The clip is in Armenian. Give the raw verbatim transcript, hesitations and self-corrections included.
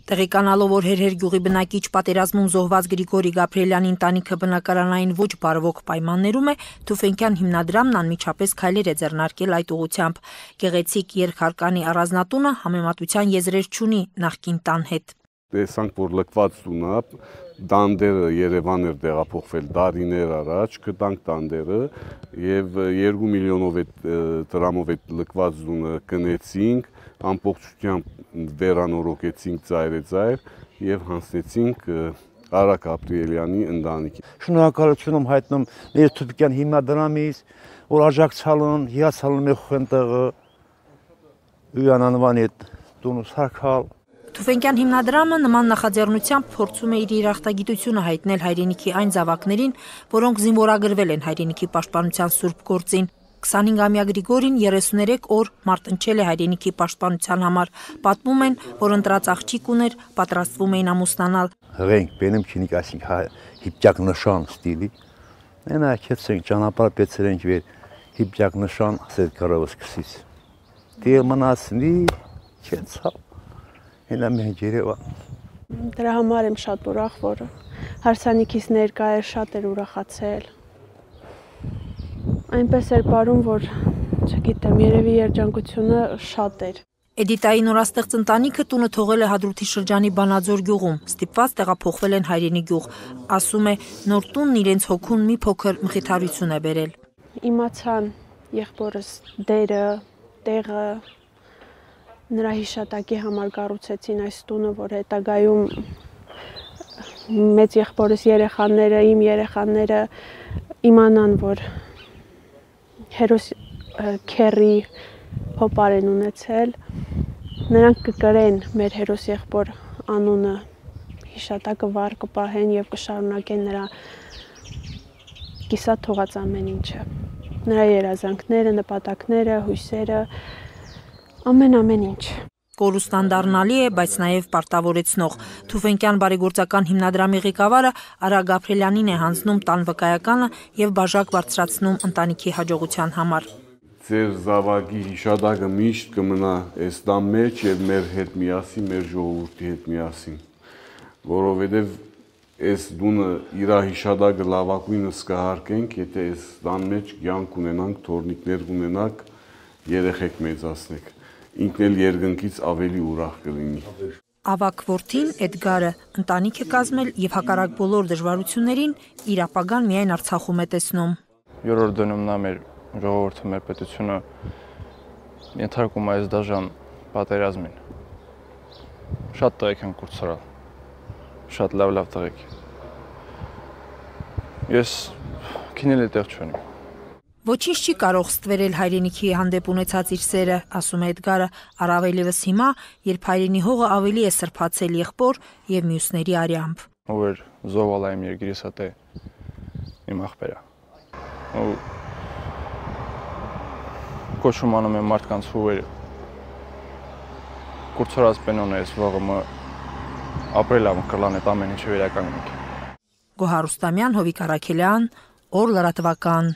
Տեղեկանալով, որ Հերհեր գյուղի բնակիչ պատերազմում զոհված Գրիգորի Գաբրիելյանի ընտանիքը բնակարանային ոչ բարվոք պայմաններում է, Թուֆենկյան հիմնադրամն անմիջապես քայլեր է ձեռնարկել այդ ուղղությամբ։ Գեղեցիկ երկհարկանի առանձնատունը համեմատության եզրեր չունի նախկին տան հետ։ Տեսանք, որ լքված տունը, դանդերը Երևան էր տեղափոխվել դարիներ առաջ, գտանք դանդերը եւ երկու միլիոնով դրամով այդ լքված տունը կնեցինք, ամբողջությամբ վերանորոգեցինք ծայրեծայր եւ հանձնեցինք Արա Գաբրիելյանի ընտանիքին։ Շնորհակալություն եմ հայտնում մեր Թուֆենկյան հիմնադրամից, որ աջակցալն, հիացալն է խնդրը ույանանվանի տունը սարքալ։ Թուֆենկյան հիմնադրամը նման նախաձեռնությամբ փորձում է իր երախտագիտությունը հայտնել հայրենիքի այն զավակներին, որոնք զինվորագրվել են հայրենիքի պաշտպանության սուրբ գործին։ քսանհինգամյա Գրիգորին երեսուներեք օր մարտնչել է հայրենիքի պաշտպանության համար։ Պատմում են, որ ընտրած աղջիկ ուներ, պատրաստվում էին ամուսնանալ։ Հղենք բենում քինիկ ասինք հիպճակ նշան ստիլի։ Այնա քեցենք ճանապարհ պեցրենք վեր հիպճակ նշան ասել կարով սկսից։ Դե մնացնի քեցա։ Հենա մենք Երևան։ Դրա համար եմ շատ ուրախ, որ հարսանիքից ներկա էր, շատ էր ուրախացել։ Այնպես էր բարում, որ չգիտեմ, երևի երջանկությունը շատ էր։ Էդիտայի նորաստեղծ ընտանիքը տունը թողել է Հադրութի շրջանի Բանաձոր գյուղում, ստիպված տեղափոխվել են հայրենի գյուղ։ Ասում է, նոր տունն իրենց հոգուն մի փոքր մխիթարություն է բերել։ Իմացան եղբորս դերը, տեղը, նրա հիշատակի համար կառուցեցին այս տունը, որ հետագայում մեծ եղբորս երեխաները, իմ երեխաները իմանան, որ հերոս քերի հոպար են ունեցել, նրանք կկրեն մեր հերոս եղբոր անունը, հիշատակը վառ կպահեն եւ կշարունակեն նրա կիսատ թողած ամեն ինչը, նրա երազանքները, նպատակները, հույսերը, ամեն ամեն ինչ։ Կորուստան դառնալի է, բայց նաև պարտավորեցնող։ Թուֆենկյան բարեգործական հիմնադրամի ղեկավարը Արա Գաբրիելյանին է հանձնում տան վկայականը եւ բաժակ բարձրացնում ընտանիքի հաջողության համար։ Ձեր զավակի հիշադակը միշտ կմնա այս տան մեջ եւ մեր հետ միասին, մեր ժողովրդի հետ միասին, որովհետեւ այս դունը իր հիշադակը լավագույնս կհարկենք, եթե այս տան մեջ կյանք ունենանք, թորնիկներ ունենանք, երեխեք մեծացնենք, ինքն էլ երկնքից ավելի ուրախ կլինի։ Ավակ որդին Էդգարը ընտանիք է կազմել եւ հակառակ բոլոր դժվարություններին իր ապագան միայն Արցախում է տեսնում։ Երրորդ դնում նա մեր ժողովուրդը, մեր պետությունը ենթարկում այս դաժան պատերազմին։ Շատ տղեկ են կուրսարալ, շատ լավ-լավ տղեկ։ Ես քինել է տեղ չունիմ։ Ոչինչ չի կարող ստվերել հայրենիքի հանդեպ ունեցած իր սերը, ասում է Էդգարը, առավելևս հիմա, երբ հայրենի հողը ավելի է սրբացել եղբոր եւ մյուսների արյամբ։ Ով էր զոհալ այմ երկրիս հետ իմ աղբերա։ Ու կոչում անում եմ մարդկանց հուվերը։ Կուրցրած պենոն է ես վաղը ապրել ամ կլան այդ ամեն ինչը վերականգնենք։ Գոհար Ռուստամյան, Հովիկ Առաքելյան, Օր լրատվական։